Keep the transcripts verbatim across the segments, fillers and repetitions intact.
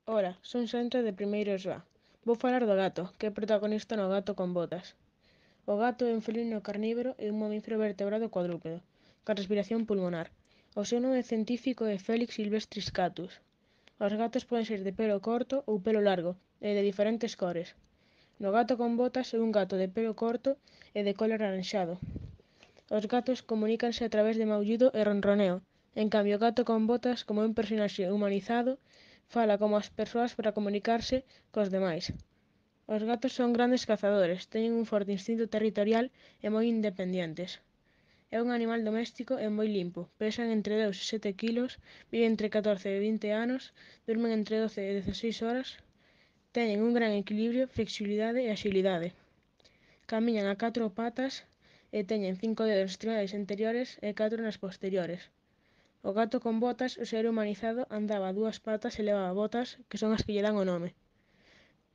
Ola, son Xantra de Primeiros A. Vou falar do gato, que é protagonista no Gato con botas. O gato é un felino carnívoro e un mamífero vertebrado cuadrúpedo, con respiración pulmonar. O seu nome científico é Felix silvestris catus. Os gatos poden ser de pelo corto ou pelo largo, e de diferentes cores. No Gato con botas é un gato de pelo corto e de colo alaranxado. Os gatos comunícanse a través de maullido e ronroneo. En cambio, o gato con botas, como é un personaxe humanizado, fala como as persoas para comunicarse cos demais. Os gatos son grandes cazadores, teñen un forte instinto territorial e moi independentes. É un animal doméstico e moi limpo, pesan entre dous e sete quilos, viven entre catorce e vinte anos, durmen entre doce e dezaseis horas, teñen un gran equilibrio, flexibilidade e axilidade. Camiñan a catro patas e teñen cinco dedos nas extremidades anteriores e catro nas posteriores. O gato con botas, o ser humanizado, andaba a dúas patas e levaba botas, que son as que lle dan o nome.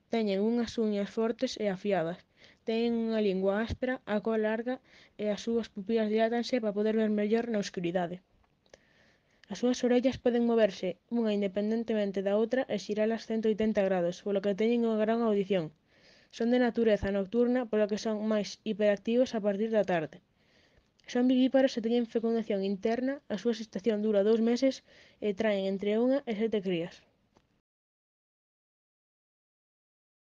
Teñen unhas uñas fortes e afiadas. Teñen unha lingua áspera, a cola larga e as súas pupilas dilátanse para poder ver mellor na oscuridade. As súas orellas poden moverse unha independentemente da outra e xiralas ciento oitenta grados, polo que teñen unha gran audición. Son de natureza nocturna, polo que son máis hiperactivos a partir da tarde. Son vivíparos e teñen fecundación interna, a súa xestación dura dous meses e traen entre unha e sete crías.